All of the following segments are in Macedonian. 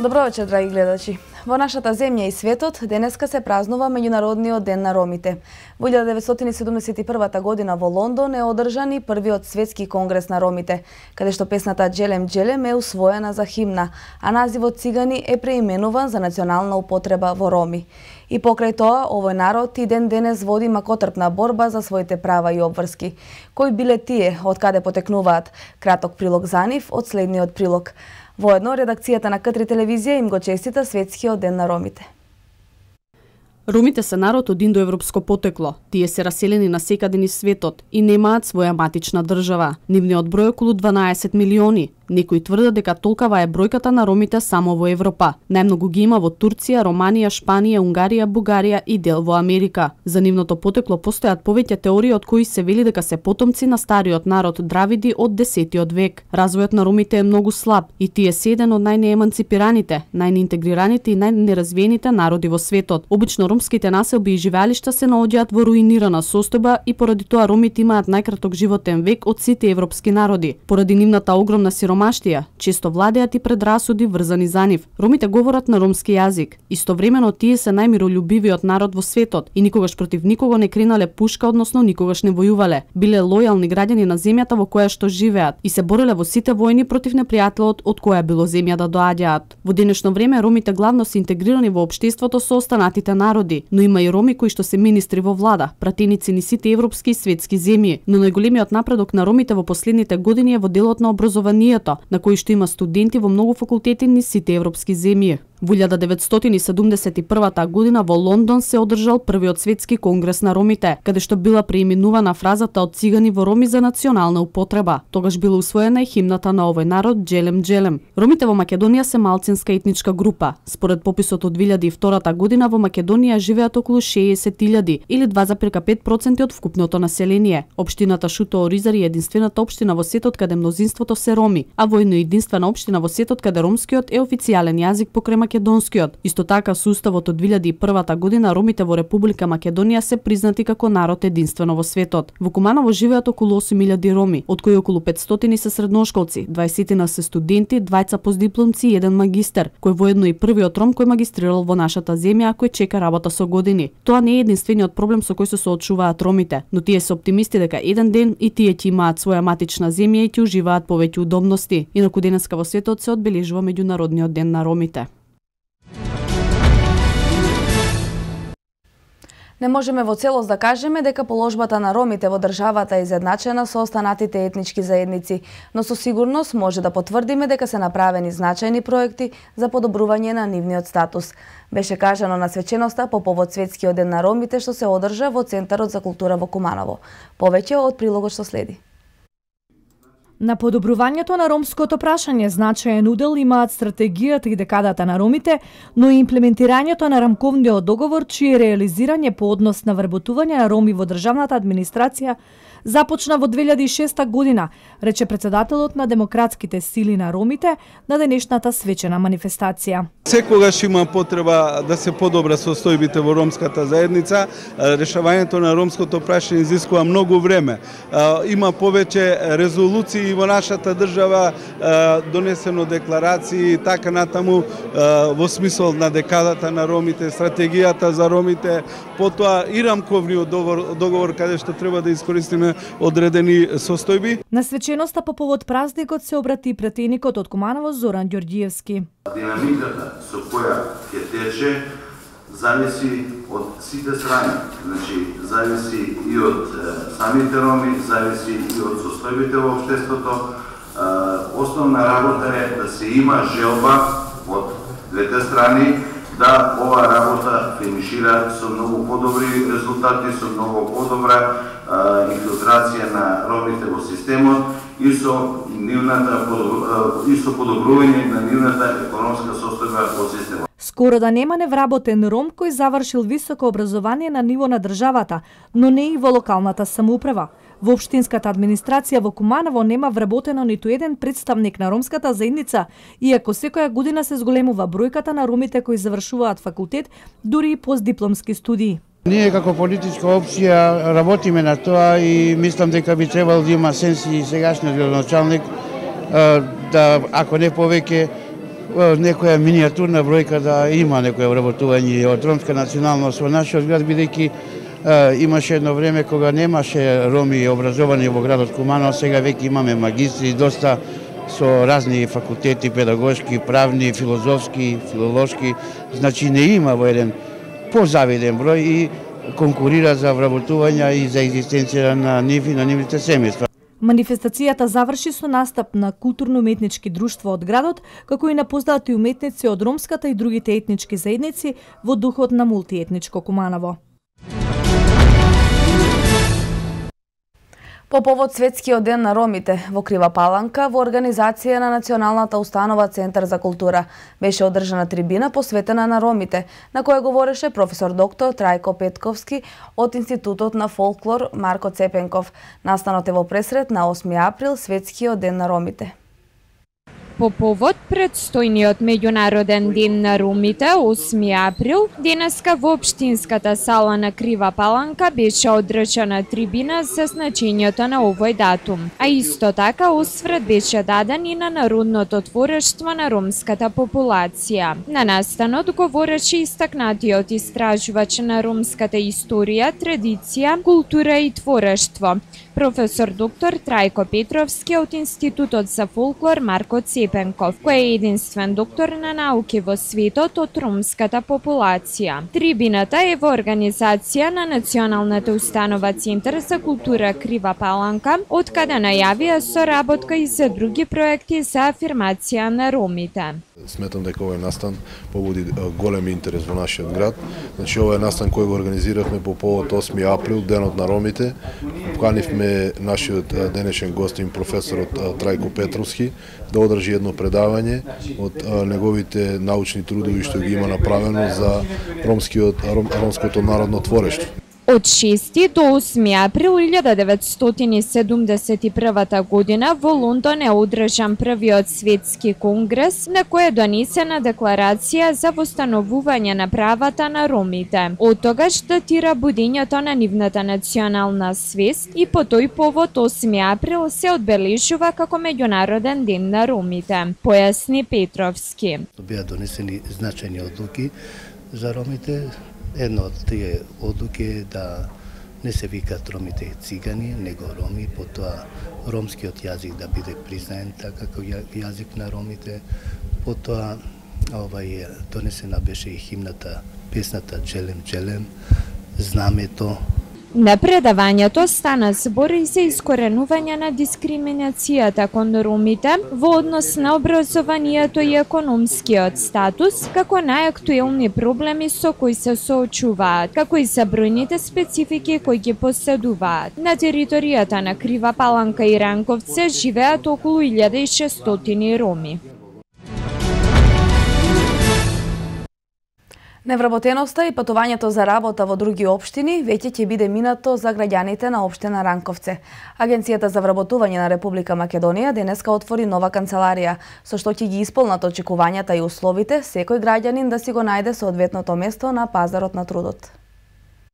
Добро вечер, драги гледачи. Во нашата земја и светот денеска се празнува Меѓународниот ден на ромите. Во 1971 година во Лондон е одржан и првиот светски конгрес на ромите, каде што песната Джелем Джелем е усвоена за химна, а називот Цигани е преименуван за национална употреба во роми. И покрај тоа, овој народ и ден денес води макотрпна борба за своите права и обврски. Кои биле тие, од каде потекнуваат? Краток прилог за нив од следниот прилог. Воедно, редакцијата на К3 телевизија им го честита Светскиот ден на ромите. Ромите се народ од индоевропско потекло. Тие се раселени на секаде низ светот и немаат своја матична држава. Нивниот број е околу 12 милиони. Некои тврдат дека толкава е бројката на ромите само во Европа. Најмногу ги има во Турција, Романија, Шпанија, Унгарија, Бугарија и дел во Америка. За нивното потекло постојат повеќе теории од кои се вели дека се потомци на стариот народ Дравиди од 10 век. Развојот на ромите е многу слаб и тие се еден од најнееманципираните, најнеинтегрираните и најнеразвиените народи во светот. Обично ромските населби и живеалишта се наоѓаат во руинирана состојба и поради тоа ромите имаат најкраток животен век од сите европски народи. Поради нивната огромна сиромаштија, често владеат и предрасуди врзани за нив. Ромите говорат на ромски јазик. Истовремено тие се најмиролюбивиот народ во светот и никогаш против никого не кренале пушка, односно никогаш не војувале. Биле лојални граѓани на земјата во која што живеат и се бореле во сите војни против непријателот од која било земја да доаѓаат. Во денешно време ромите главно се интегрирани во општеството со останатите народи, но има и роми кои што се министри во влада, пратеници ни сите европски и светски земји. Но најголемиот напредок на ромите во последните години е во делот на образованието, на кој што има студенти во многу факултети низ сите европски земји. Во 1971 година во Лондон се одржал првиот светски конгрес на ромите, каде што била преименувана фразата од цигани во роми за национална употреба. Тогаш била усвоена и химната на овој народ Джелем Джелем. Ромите во Македонија се малцинска етничка група. Според пописот од 2002 година во Македонија живеат околу 60.000 или 2,5% од вкупното население. Општината Шуто Оризари е единствената општина во светот каде мнозинството се роми, а воедно единствена општина во светот каде ромскиот е официјален јазик покрај македонскиот. Исто така со уставот од 2001 година ромите во Република Македонија се признати како народ единствено во светот. Во Куманово живеат околу 8.000 роми, од кои околу 500 се средношколци, 20 се студенти, 2 постдипломци и 1 магистер, кој воедно и првиот ром кој магистрирал во нашата земја, а кој чека работа со години. Тоа не е единствениот проблем со кој се соочуваат ромите, но тие се оптимисти дека еден ден и тие ќе имаат своја матична земја и ќе уживаат повеќе удобности. Инаку денеска во светот се одбележува Меѓународниот ден на ромите. Не можеме во целост да кажеме дека положбата на ромите во државата е изедначена со останатите етнички заедници, но со сигурност може да потврдиме дека се направени значајни проекти за подобрување на нивниот статус. Беше кажано на свеченоста по повод Светскиот ден на ромите што се одржа во Центарот за култура во Куманово. Повеќе од прилогот што следи. На подобрувањето на ромското прашање значаен удел имаат стратегијата и декадата на ромите, но и имплементирањето на рамковниот договор, чие реализирање по однос на вработување на роми во државната администрација започна во 2006 година, рече председателот на Демократските сили на ромите на денешната свечена манифестација. Секогаш има потреба да се подобра состојбите во ромската заедница. Решавањето на ромското прашање изискува многу време. Има повеќе резолуции во нашата држава, донесено декларации и така натаму во смисол на декадата на ромите, стратегијата за ромите, потоа и рамковниот договор каде што треба да искористиме одредени состојби. На свеченоста по повод празникот се обрати и пратеникот од Куманово Зоран Ѓорѓиевски. Динамиката со која ќе тече зависи од сите страни. Значи, зависи и од самите роми, зависи и од состојбите во општеството. Основна работа е да се има желба од двете страни да ова работа финишира со многу подобри резултати, со многу подобра инфилтрација на ромите во системот и со подобрување на нивната економска состојба во системот. Скоро да нема невработен ром кој завршил високо образование на ниво на државата, но не и во локалната самоуправа. Во општинската администрација во Куманово нема вработено ниту еден представник на ромската заедница, иако секоја година се зголемува бројката на ромите кои завршуваат факултет, дури и постдипломски студии. Ние како политичка опција работиме на тоа и мислам дека би требало да има сенс и сегашниот градоначалник да, ако не повеќе, некоја миниатурна бројка да има некоја вработување од ромска националност во нашиот град, бидејќи имаше едно време кога немаше роми образовани во градот Куманово, сега веќе имаме магистри, доста со разни факултети, педагошки, правни, филозофски, филолошки, значи не има во еден позавиден број и конкурира за вработување и за екзистенција на нив и на нивните семејства. Манифестацијата заврши со настап на културно-уметнички друштва од градот, како и на познати уметници од ромската и другите етнички заедници во духот на мултиетничко Куманово. По повод Светскиот ден на ромите во Крива Паланка, во организација на Националната установа Центар за култура, беше одржана трибина посветена на ромите, на која говореше професор доктор Трајко Петковски од Институтот на фолклор Марко Цепенков. Настанот е во пресред на 8 април, Светскиот ден на ромите. По повод предстојниот меѓународен ден на ромите, 8 април, денеска во општинската сала на Крива Паланка беше одржана трибина за значењето на овој датум, а исто така осврт беше даден и на народното творештво на ромската популација. На настанот говореше истакнатиот истражувач на ромската историја, традиција, култура и творештво, професор доктор Трајко Петровски од Институтот за фолклор Марко Цепенков, кој е единствен доктор на науки во светот од ромската популација. Трибината е во организација на Националната установа Центар за култура Крива Паланка, од каде најавија соработка и за други проекти за афирмација на ромите. Сметам дека овој настан побуди голем интерес во нашиот град. Значи овој настан кој го организиравме по повод 8 април, денот на ромите. Поканивме нашиот денешен гостин професорот Трајко Петровски да одржи едно предавање од неговите научни трудови што ги има направено за ромското народно творештво. Од 6 до 8 април 1971 година во Лондон е одржан првиот светски конгрес на кој е донесена декларација за востановување на правата на ромите. Од тогаш датира будењето на нивната национална свест и по тој повод 8 април се одбележува како меѓународен ден на ромите, појасни Петровски. Беа донесени значајни одлуки за ромите. Една од тие одлуки е да не се викаат ромите цигани, него роми, потоа ромскиот јазик да биде признаен така како јазик на ромите, потоа донесена беше и химната, песната Джелем Джелем, знамето. На предавањето стана збор и за искоренување на дискриминацијата кон ромите во однос на образованието и економскиот статус, како најактуелни проблеми со кои се соочуваат, како и за бројните специфики кои ги поседуваат. На територијата на Крива Паланка и Ранковце живеат околу 1600 роми. Невработеноста и патувањето за работа во други општини веќе ќе биде минато за граѓаните на општина Ранковце. Агенцијата за вработување на Република Македонија денеска отвори нова канцеларија, со што ќе ги исполнат очекувањата и условите секој граѓанин да си го најде соодветното место на пазарот на трудот.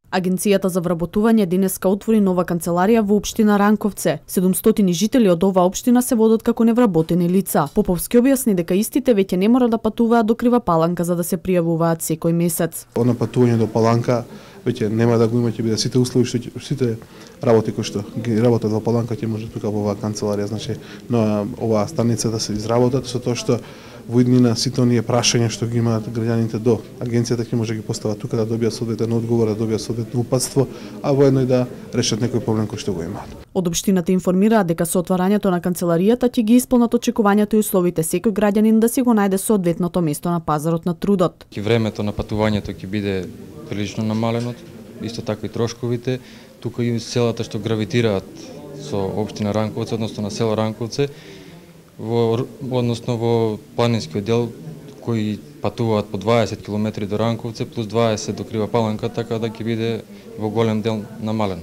Агенцијата за вработување денеска отвори нова канцеларија во општина Ранковце. 700 жители од оваа општина се водат како невработени лица. Поповски објасни дека истите веќе не мора да патуваат до Крива Паланка за да се пријавуваат секој месец. Одно патување до Паланка веќе нема да го има, ќе биде сите услови, сите работи кои што ги работат во Паланка ќе може тука во оваа канцеларија, значи на оваа станица да се изработат со тоа што во иднина сите оние прашања што ги имаат граѓаните до агенцијата ќе може ги постават тука да добијат соодветен одговор, да добијат соодветно упатство, а воедно и да решат некој проблем кој што го имаат. Од општината информираат дека со отварањето на канцеларијата ќе ги исполнат очекувањата и условите секој граѓанин да си го најде соодветното место на пазарот на трудот. Времето на патувањето ќе биде прилично намалено, исто така и трошковите. Тука и селата што гравитираат со општина Ранковце, односно на село Ранковце, односно во планинскиот дел кои патуваат по 20 км до Ранковце плюс 20 до Крива Паланка, така да ќе биде во голем дел намален.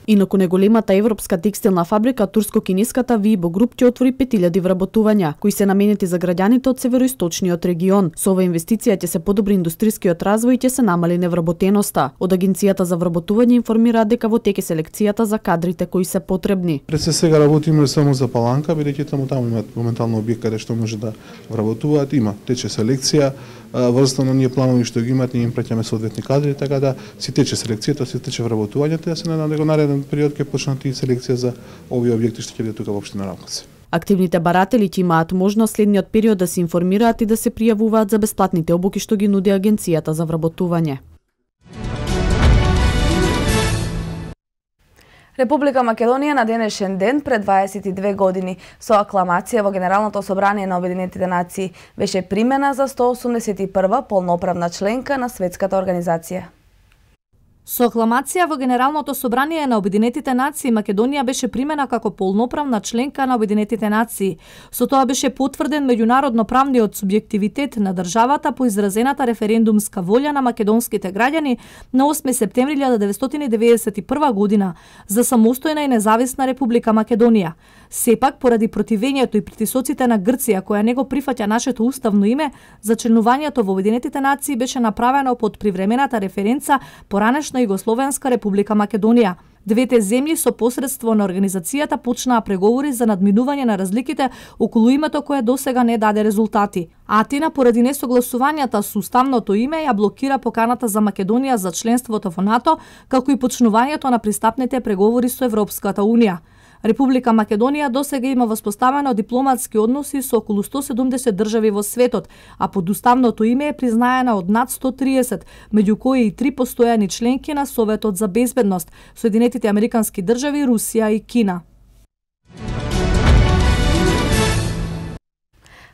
Инаку неголемата европска текстилна фабрика, турско-кинеската Weibo Group ќе отвори 5000 вработувања, кои се наменети за граѓаните од североисточниот регион. Со ова инвестиција ќе се подобри индустрискиот развој и ќе се намали невработеноста. Од Агенцијата за вработување информираат дека во теке селекцијата за кадрите кои се потребни. Пред се сега работиме само за Паланка, бидејќи таму имаат моментално објект каде што може да вработуваат, има тече селекција, врзано на ние планови што ги имаат, ние им праќаме соодветни кадри, така да си тече селекцијата, си тече вработувањето, да се надам дека нареден период ќе почнат и селекција за овие објекти што ќе бидат тука во општина Рамковци. Активните баратели ќе имаат можност следниот период да се информираат и да се пријавуваат за бесплатните обуки што ги нуди Агенцијата за вработување. Република Македонија на денешен ден пред 22 години со акламација во Генералното собрание на Обединетите нации беше примена за 181 полноправна членка на светската организација. Со акламација во Генералното собрание на Обединетите нации Македонија беше примена како полноправна членка на Обединетите нации. Со тоа беше потврден меѓународно правниот субјективитет на државата по изразената референдумска волја на македонските граѓани на 8 септември 1991 година за самостојна и независна Република Македонија. Сепак, поради противењето и притисоците на Грција, која не го прифаќа нашето уставно име, за членувањето во Обединетите нации беше направено под привремената референца поранешна Југословенска Република Македонија. Двете земји со посредство на организацијата почнаа преговори за надминување на разликите околу името кое досега не даде резултати. Атина, поради несогласувањата со уставното име, ја блокира поканата за Македонија за членството во НАТО, како и почнувањето на пристапните преговори со Европската унија. Република Македонија досега има воспоставено дипломатски односи со околу 170 држави во светот, а под уставното име е признаена од над 130, меѓу кои и 3 постојани членки на Советот за безбедност, Соединетите Американски држави, Русија и Кина.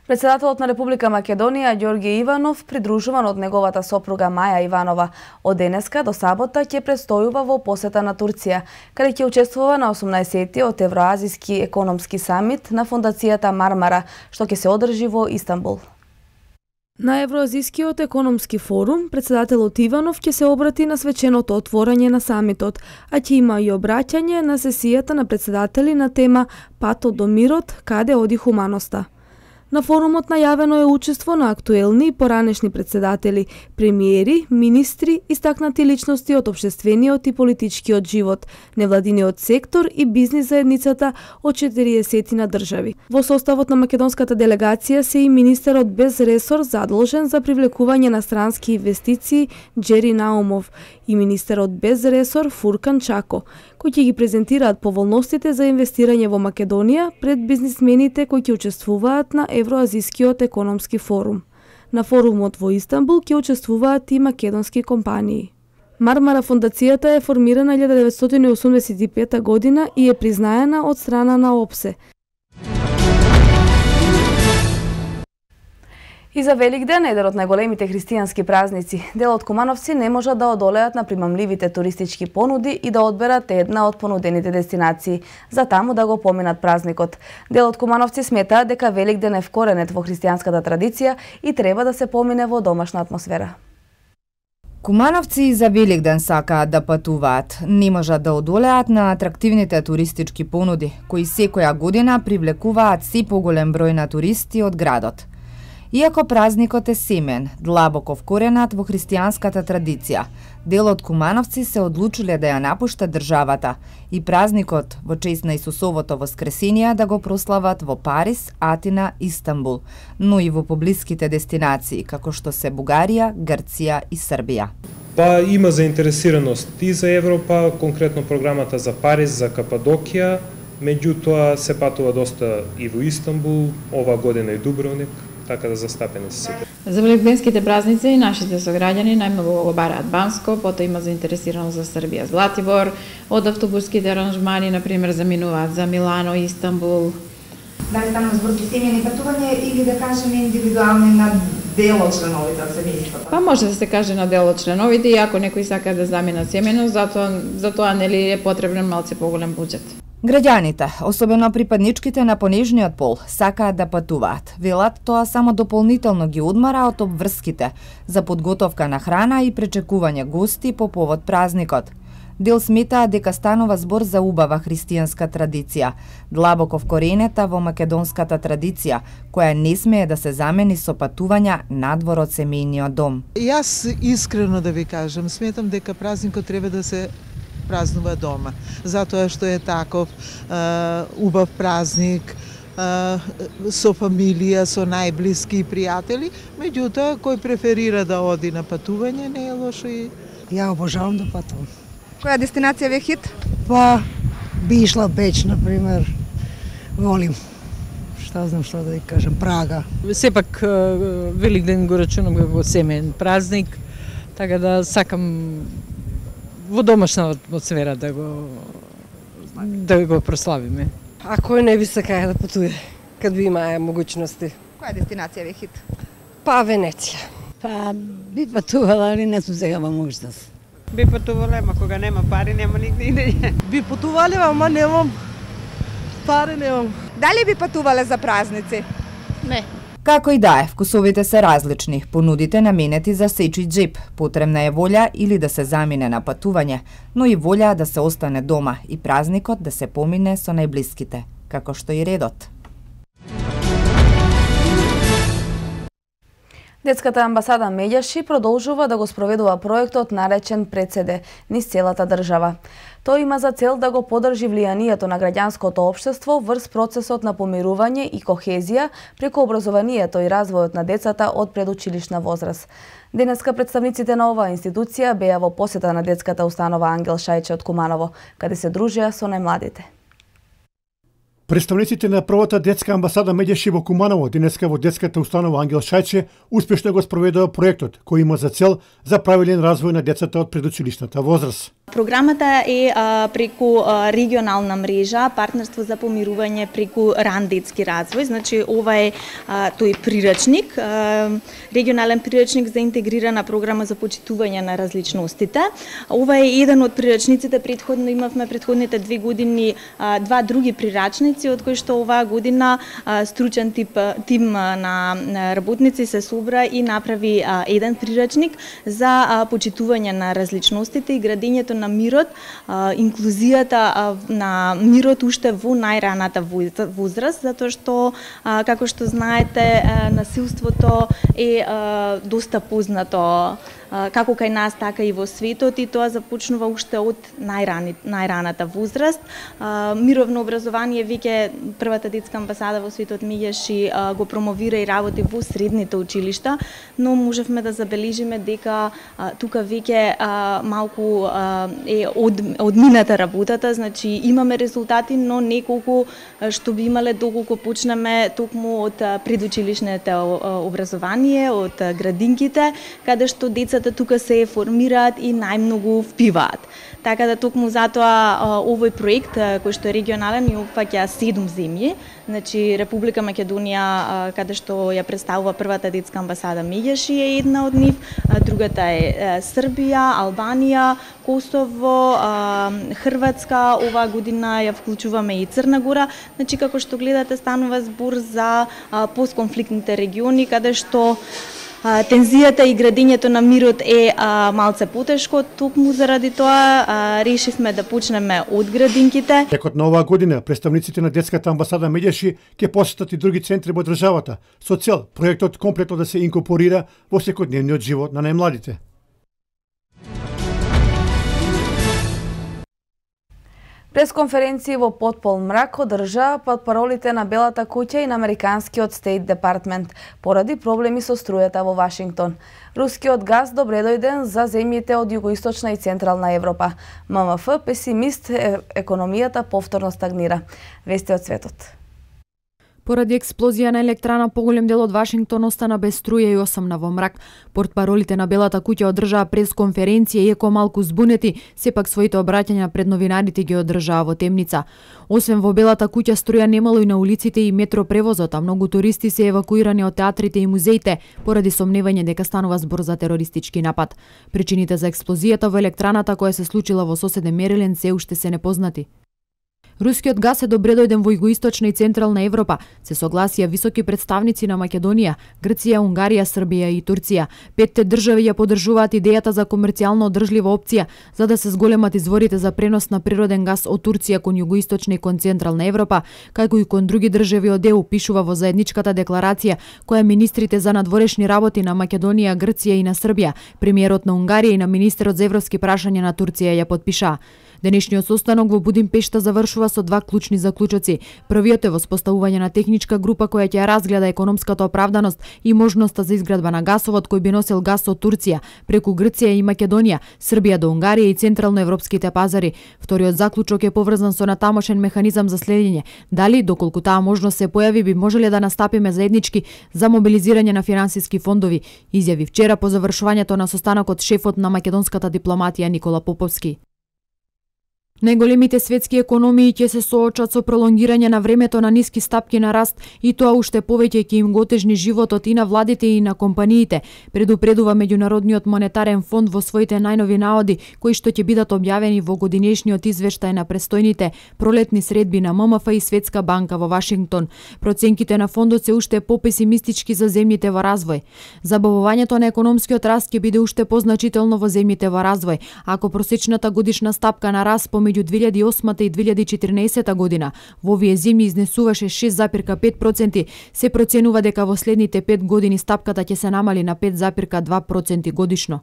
Председателот на Република Македонија Ѓорѓе Иванов, придружуван од неговата сопруга Маја Иванова, од денеска до сабота ќе престојува во посета на Турција, каде ќе учествува на 18-тиот Евроазиски економски самит на фондацијата Мармара, што ќе се одржи во Истанбул. На Евроазискиот економски форум, председателот Иванов ќе се обрати на свеченото отворање на самитот, а ќе има и обраќање на сесијата на председатели на тема Патот до мирот, каде оди хуманоста. На форумот најавено е учество на актуелни и поранешни председатели, премиери, министри, истакнати личности од општествениот и политичкиот живот, невладиниот сектор и бизнис заедницата од 40 држави. Во составот на македонската делегација се и министерот без ресор задолжен за привлекување на странски инвестиции Џери Наумов и министерот без ресор Фуркан Чако, кои ќе ги презентираат поволностите за инвестирање во Македонија пред бизнисмените кои ќе учествуваат на Евроазискиот економски форум. На форумот во Истанбул ќе учествуваат и македонски компании. Мармара фондацијата е формирана 1985 година и е признаена од страна на ОПСЕ. И за Великден, еден од најголемите христијански празници, делот кумановци не можат да одолеат на примамливите туристички понуди и да одберат една од понудените дестинации, за таму да го поминат празникот. Делот кумановци сметаат дека Великден е вкоренет во христијанската традиција и треба да се помине во домашна атмосфера. Кумановци и за Великден сакаат да патуваат, не можат да одолеат на атрактивните туристички понуди, кои секоја година привлекуваат се поголем број на туристи од градот. Иако празникот е семен, длабоко вкоренат во христијанската традиција, дел од кумановци се одлучиле да ја напуштат државата и празникот во чест на Исусовото воскресение да го прослават во Париз, Атина, Истанбул, но и во поблиските дестинации, како што се Бугарија, Грција и Србија. Па има заинтересираност и за Европа, конкретно програмата за Париз, за Кападокија, меѓутоа се патува доста и во Истанбул, ова година и Дубровник, така да застапени се сите. За великденските празници нашите сограѓани најмногу го бараат Банско, потоа има заинтересираност за Србија, Златибор, од автобуските аранжмани, например, заминуваат за Милано, Истанбул. Дали станува збор за семејни патување или да кажеме индивидуални на дел од членовите од семејството? Па може да се каже на дел од членовите, и ако некој сака да замина семејно, затоа нели е потребен малце поголем буџет. Граѓаните, особено припадничките на понежниот пол, сакаат да патуваат. Велат тоа само дополнително ги одмара од обврските за подготовка на храна и пречекување гости по повод празникот. Дел сметаат дека станува збор за убава христијанска традиција, длабоко вкоренета во македонската традиција, која не смее да се замени со патувања надвор од семејниот дом. Јас искрено да ви кажам, сметам дека празникот треба да се празнува дома, затоа што е таков убав празник, со фамилија, со најблиски и пријатели, меѓутоа кој преферира да оди на патување не е лошо и ја обожавам да патувам. Која дестинација ви е хит? Па би ишла Беч, на пример. Волим. Што знам што да ви кажам, Прага. Сепак Великден го рачунам како семеен празник, така да сакам во домашна атмосфера да го прославиме. А кој не би сакаја да патуе, кад би имаа могуćности? Која дестинација ви е хит? Па Венеција. Па би патувала, али не сум сега во можност. Би патувала, ама кога нема пари, нема нигде идење. Би патувале, ама немам пари, немам. Дали би патувале за празници? Не. Како и да е, вкусовите се различни, понудите наменети за сечи џеб, потребна е волја или да се замине на патување, но и волја да се остане дома и празникот да се помине со најблиските, како што и редот. Детската амбасада Меѓаши продолжува да го спроведува проектот наречен Председе низ целата држава. Тој има за цел да го подржи влијанието на граѓанското општество врз процесот на помирување и кохезија преку образованието и развојот на децата од предучилишна возраст. Денеска представниците на оваа институција беа во посета на детската установа Ангел Шајче од Куманово, каде се дружеа со најмладите. Представниците на првата детска амбасада Меѓаши во Куманово денеска во детската установа Ангел Шајче успешно го спроведува проектот кој има за цел за правилен развој на децата од предучилишната возраст. Програмата е преку регионална мрежа, партнерство за помирување преку ран детски развој. Значи ова е тој прирачник, регионален прирачник за интегрирана програма за почитување на различностите. Ова е еден од прирачниците, предходно имавме предходните 2 години два други прирачници, од кои што оваа година стручен тим на работници се собра и направи еден прирачник за почитување на различностите и градењето на мирот, инклузијата на мирот уште во најраната возраст, затоа што, како што знаете, насилството е доста познато како кај нас, така и во светот, и тоа започнува уште од најраната возраст. Мировно образование веќе првата детска амбасада во светот Меѓаши го промовира и работи во средните училишта, но можевме да забележиме дека тука веќе малку е одмината работата, значи имаме резултати, но не колку што би имале доколку почнеме токму од предучилишното образование, од градинките, каде што децата тука се формираат и најмногу впиваат. Така да токму затоа овој проект кој што е регионален и опфаќа 7 земји, значи Република Македонија, каде што ја представува првата детска амбасада Меѓаши е една од нив, другата е Србија, Албанија, Косово, Хрватска, оваа година ја вклучуваме и Црна Гора. Значи како што гледате станува збор за постконфликтните региони каде што тензијата и градењето на мирот е малце потешко, токму заради тоа решивме да почнеме од градинките. Текот на оваа година представниците на детската амбасада Меѓаши ќе посетат и други центри во државата со цел проектот комплетно да се инкорпорира во секојдневниот живот на најмладите. Пресконференции во потпол мрак одржаа под паролите на Белата куќа и на американскиот Стейт Департмент поради проблеми со струјата во Вашингтон. Рускиот газ добре дојден за земјите од југоисточна и централна Европа. ММФ песимист економијата повторно стагнира. Вести од светот. Поради експлозија на електрана, поголем дел од Вашингтон остана без струја и осамна во мрак. Портпаролите на Белата куќа одржаа пресконференција, иако малку збунети, сепак своите обраќања пред новинарите ги одржаа во темница. Освен во Белата куќа, струја немало и на улиците и метропревозот, а многу туристи се евакуирани од театрите и музеите поради сомневање дека станува збор за терористички напад. Причините за експлозијата во електраната која се случила во соседен Мериленд се уште се непознати. Рускиот газ е добредојден во југоисточна и централна Европа, се согласија високи представници на Македонија, Грција, Унгарија, Србија и Турција. Петте држави ја поддржуваат идејата за комерцијално одржлива опција за да се зголемат изворите за пренос на природен газ од Турција кон југоисточна и кон централна Европа, како и кон други држави од ЕУ, пишува во заедничката декларација која министрите за надворешни работи на Македонија, Грција и на Србија, премиерот на Унгарија и на министерот за европски прашања на Турција ја потпишаа. Денешниот состанок во Будимпешта завршува со два клучни заклучоци. Првиот е воспоставување на техничка група која ќе разгледа економската оправданост и можноста за изградба на гасовод кој би носел газ од Турција преку Грција и Македонија, Србија до Унгарија и централноевропските пазари. Вториот заклучок е поврзан со натамошен механизам за следење. Дали, доколку таа можност се појави, би можеле да настапиме заеднички за мобилизирање на финансиски фондови, изјави вчера по завршувањето на состанокот шефот на македонската дипломатија Никола Поповски. Најголемите светски економии ќе се соочат со пролонгирање на времето на ниски стапки на раст и тоа уште повеќе ќе им го отежни животот и на владите и на компаниите, предупредува Меѓународниот монетарен фонд во своите најнови наоди, кои што ќе бидат објавени во годинешниот извештај на престојните пролетни средби на ММФ и Светска банка во Вашингтон. Проценките на фондот се уште попесимистички за земјите во развој. Забавувањето на економскиот раст ќе биде уште позначително во земјите во развој, ако просечната годишна стапка на раст помеѓу 2008 и 2014 година во овие земји изнесуваше 6,5%, се проценува дека во следните 5 години стапката ќе се намали на 5,2% годишно.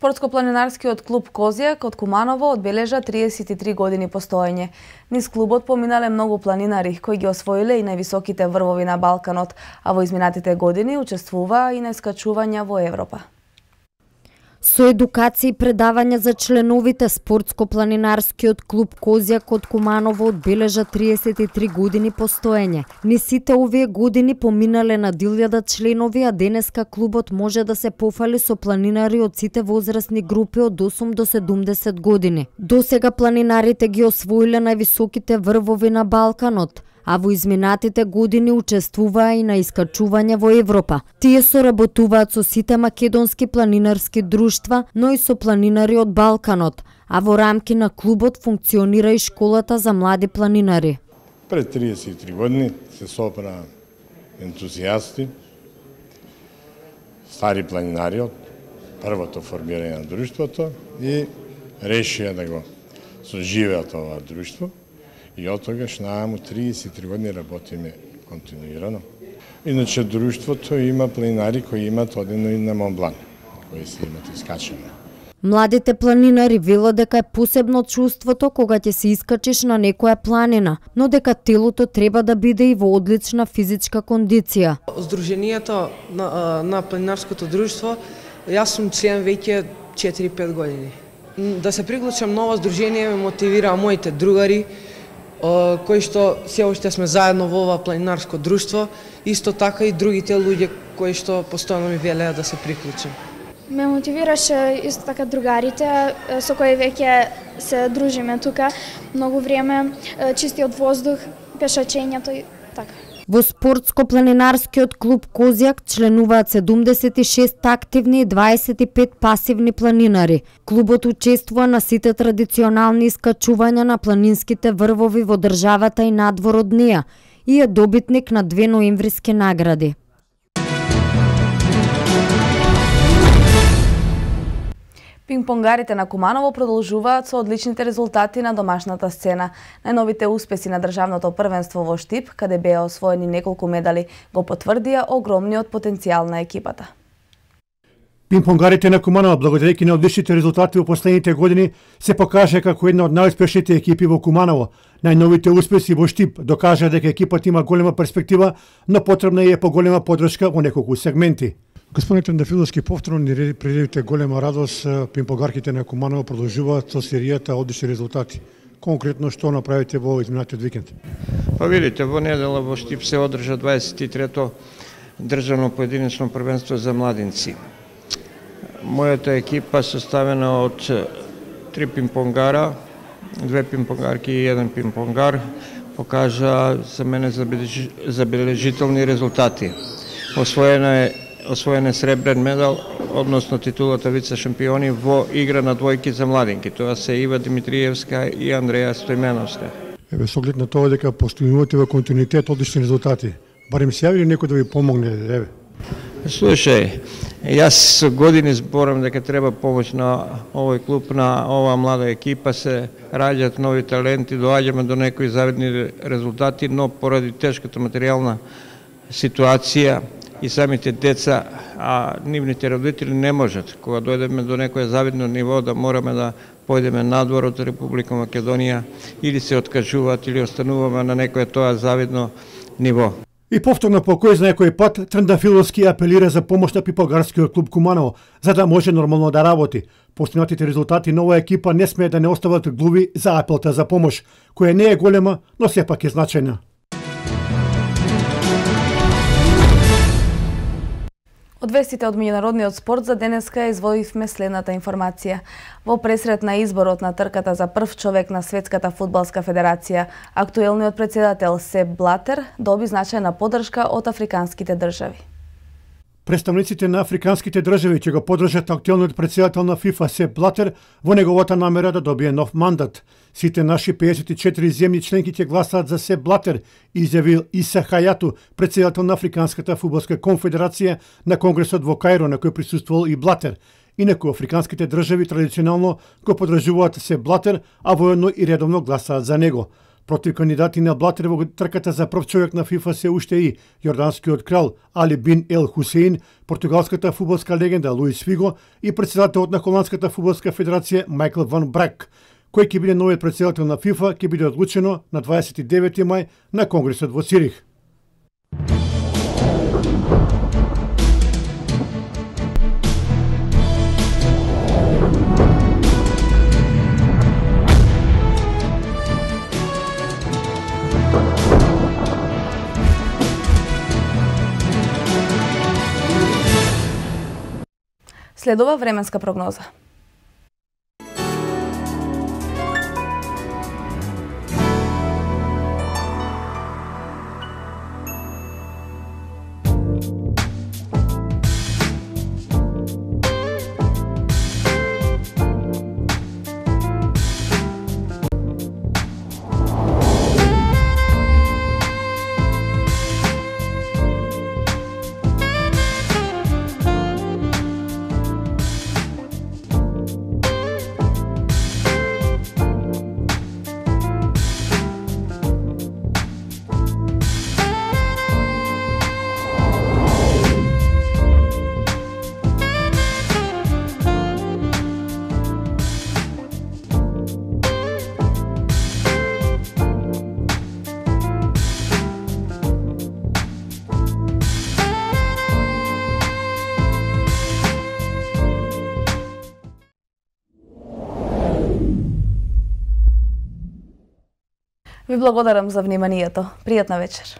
Спортско-планинарскиот клуб Козјак од Куманово одбележа 33 години постоење. Низ клубот поминале многу планинари кои ги освоиле и највисоките врвови на Балканот, а во изминатите години учествуваа и на искачувања во Европа. Со едукација и предавања за членовите, Спортско-планинарскиот клуб Козјак од Куманово одбележа 33 години постоење. Низ сите овие години поминале на 1000 членови, а денеска клубот може да се пофали со планинари од сите возрастни групи од 8 до 70 години. Досега планинарите ги освоиле највисоките врвови на Балканот, а во изминатите години учествуваа и на искачување во Европа. Тие соработуваат со сите македонски планинарски друштва, но и со планинари од Балканот, а во рамки на клубот функционира и школата за млади планинари. Пред 33 години се собраа ентузијасти, стари планинари од првото формирање на друштвото и решија да го соживеат ова друштво. И од тогаш нааму 33 години работиме континуирано. Иначе друштвото има планинари кои имат одено и на Монблан, кои се имат искачено. Младите планинари велат дека е посебно чувството кога ќе се искачиш на некоја планина, но дека телото треба да биде и во одлична физичка кондиција. Сдруженијето на планинарското друштво, јас сум член веќе 4-5 години. Да се приклучам ново сдружение ме мотивираа моите другари, кои што се уште сме заедно во ова планинарско друштво, исто така и другите луѓе кои што постојано ми велеа да се приклучам. Ме мотивираше исто така другарите со кои веќе се дружиме тука многу време, чистиот воздух, пешачењето и така. Во Спортско-планинарскиот клуб Козјак членуваат 76 активни и 25 пасивни планинари. Клубот учествува на сите традиционални искачувања на планинските врвови во државата и надвор од неа и е добитник на 2 ноемвриски награди. Пинг-понгарите на Куманово продолжуваат со одличните резултати на домашната сцена. Најновите успеси на државното првенство во Штип, каде беа освоени неколку медали, го потврдија огромниот потенцијал на екипата. Пинг-понгарите на Куманово, благодарејќи на одличните резултати во последните години, се покажа како една од најуспешните екипи во Куманово. Најновите успеси во Штип докажа дека екипата има голема перспектива, но потребна е поголема поддршка во неколку сегменти. Господин Трендафиловски, повторно ни предавите голема радост. Пинг-понгарките на Куманово продолжуваат со серијата одлични резултати. Конкретно што направите во изминатиот викенд? Па видите, во недела во Штип се одржа 23-то државно поединечно првенство за младинци. Мојата екипа составена од 3 пинг-понгара, 2 пинг-понгарки и 1 пинг-понгар, покажа за мене забележителни резултати. Освоен е сребрен медал, односно титулата вице-шампиони во игра на двојки за младинки. Тоа се Ива Димитриевска и Андреја Стојменовска. Еве, со оглед на тоа дека постојувате во континуитет одлични резултати, барем се јави ли некој да ви помогне? Еве. Слушај, јас години зборам дека треба помош на овој клуб, на оваа млада екипа, се раѓаат нови таленти, доаѓаме до некои завидни резултати, но поради тешката материјална ситуација и самите деца, а нивните родители не можат, кога дојдеме до некое завидно ниво, да мораме да појдеме надвор од Република Македонија, или се откажуваат, или остануваме на некое тоа завидно ниво. И повторно по кој знае кој пат, Трендафиловски апелира за помош на пипогарскиот клуб Куманово, за да може нормално да работи. Постигнатите резултати на оваа екипа не смее да не остават глуви за апелта за помош, која не е голема, но сепак е значајна. Од вестите од меѓународниот спорт за денеска изводивме следната информација. Во пресрет на изборот на трката за прв човек на Светската фудбалска федерација, актуелниот председател Сеп Блатер доби значајна поддршка од африканските држави. Представниците на африканските држави ќе го поддржат актуелниот председател на ФИФА Сеп Блатер во неговата намера да добие нов мандат. Сите наши 54 земји членки ќе гласаат за Сеп Блатер, изјавил Иса Хајату, председател на Африканската фудбалска конфедерација на конгресот во Каиро, на кој присуствувал и Блатер. Инаку африканските држави традиционално го поддржуваат Сеп Блатер, а воедно и редовно гласаат за него. Против кандидати на Блатер во трката за прв човек на ФИФА се уште и јорданскиот крал Али бин Ел Хусеин, португалската фудбалска легенда Луис Фиго и председателот на Холандската фудбалска федерација Майкл Ван Брак. Кој ќе биде новиот председател на ФИФА ќе биде одлучено на 29 мај на конгресот во Цирих. Следува временска прогноза. Ви благодарам за вниманието. Пријатна вечер.